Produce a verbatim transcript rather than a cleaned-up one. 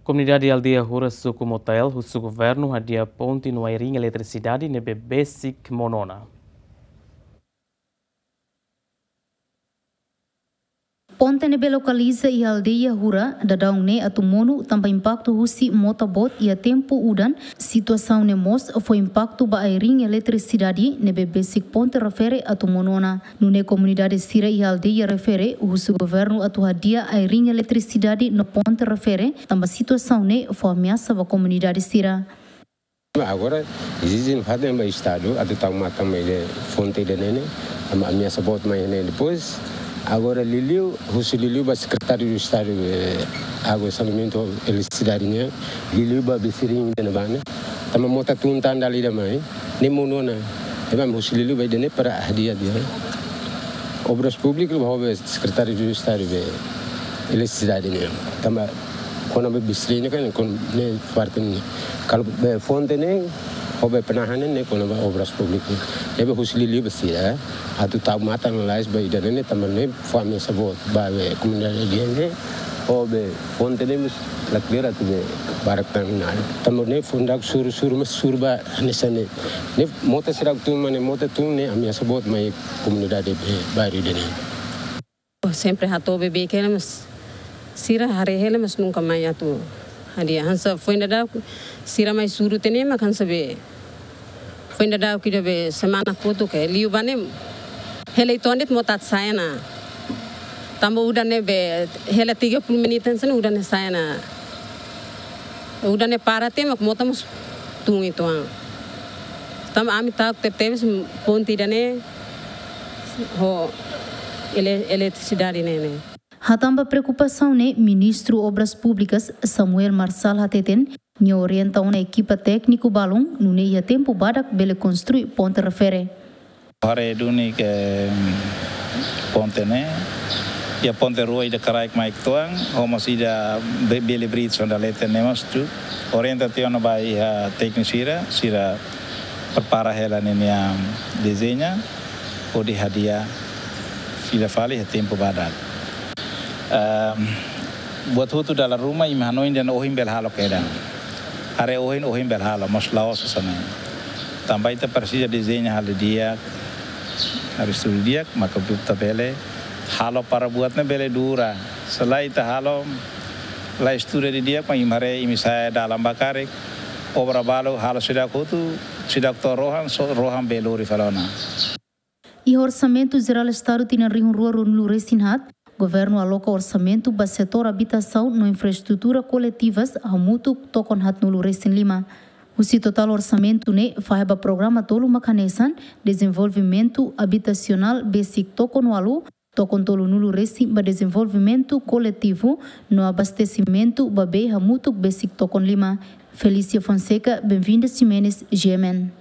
Komunidade aldeia Hura, suku Motael, husu governu hadi'a ponte no ai-riin eletrisidade ne'ebé besik monu ona. Ponte ne'ebé lokaliza iha aldeia Hura, daudaun ne'e atu monu tanba impaktu husi mota boot iha tempu udan. Situasaun ne'e mós fó impaktu ba ai-riin eletrisidade ne'ebé besik ponte refere atu monu ona. Nune'e komunidade sira iha aldeia refere husu governu atu hadi'a ai-riin eletrisidade no ponte refere, tanba situasaun ne'e fó ameasa ba komunidade sira. Agora ezije nafatin ba Estadu atu tau matan mai iha fonte ida-ne'e ne'e, tanba ameasa boot mai ne'e. Depois, agora liuliu, husu liuliu ba Sekretáriu Estadu, eh, Água, Saneamentu, Eletrisidade nian, liuliu ba besirin ida-ne'ebá ne'e, tanba mota tun tan dala ida mai, ne'e monu ona. Ne'ebé husu liuliu ba ida-ne'e para hadi'a tiha Obras Públikas ho be Sekretáriu Estadu be Eletrisidade nian. Tanba kona-ba besirin ne'e kan, kona-ba parte ne'e. Kalau be fonte ne'e, ho be penahan ne'e, kona-ba Obras Públikas. Ne'ebé husu liuliu ba sira atu tau matan lalais ba ida-ne'e ne'e, tanba ne'e fó ameasa boot ba be komunidade ida-ne'e, ho be fonte ne'e mós la kleur atu be barak tan ona. Tanba ne'e fó daudauk suru, suru, mas suru ba hanesan ne'e. Ne'e mota sira tun, mane mota tun ne'e ameasa boot mai komunidade be bairru ida-ne'e. Sempre hato'o beibeik hela, mas sira haree hela, mas nunka mai atu hadi'a. Hanesan foin daudauk sira mai suru tiha ne'e, mak hanesan be foin daudauk ida be semana kotuk ke liu ba ne'e, hela uitoan de'it mota atu sa'e ona. Tanba udan ne'e be hela tiga puluh menit hanesan udan ne'e sa'e ona. Udan ne'e para tiha mak mota mós tun uitoan. Tanba ami ta'uk tebetebes ponte ida-ne'e ho ele-, eletrisidade ne'e ne'e. Hatán ba preokupasaun ne'e, Ministru Obras Públikas, Samuel Marçal hateten, nia orienta ona ekipa tékniku balun, nune'e iha tempu badak bele konstrui ponte refere. Haree duni ke, mm, ponte ne'e, iha ponte rua ida kraik mai uitoan, ho mós ida be-, bele bridge ona leten ne'e mós tu. Orienta tiha ona ba iha tékniku sira, sira prepara hela ninia dezeñu, hodi hadi'a fila fali iha tempu badak. Ehm, buat hotu dala ruma imi hanoin dehan ohin bele halo kedan. Haree ohin, ohin bele halo, mas la'ós hanesan ne'e. Tanba ita presiza dezeñu halo di'ak, haree estuda di'ak, maka ita bele halo para buat ne'e bele dura. Se lae ita halo, la estuda didi'ak, mak imi haree imi sa'e dalan ba karik, obra balu halo seidauk hotu, seidauk to'o rohan, só rohan bele lori fali ona. Iha Orsamentu Jerál Estadu tinan rihun rua ruanulu resin haat, Governu aloka orsamentu ba setór abitasaun no infraestrutura koletivas hamutuk tokon haatnulu resin lima. Husi totál orsamentu ne'e, fahe ba programa tolu mak hanesan: dezenvolvimentu abitasionál besik tokon ualu, tokon tolunulu resin ba dezenvolvimentu koletivu, no abastesimentu ba bee hamutuk besik tokon lima. Felícia Fonseca, Benvinda Ximenes, G M N.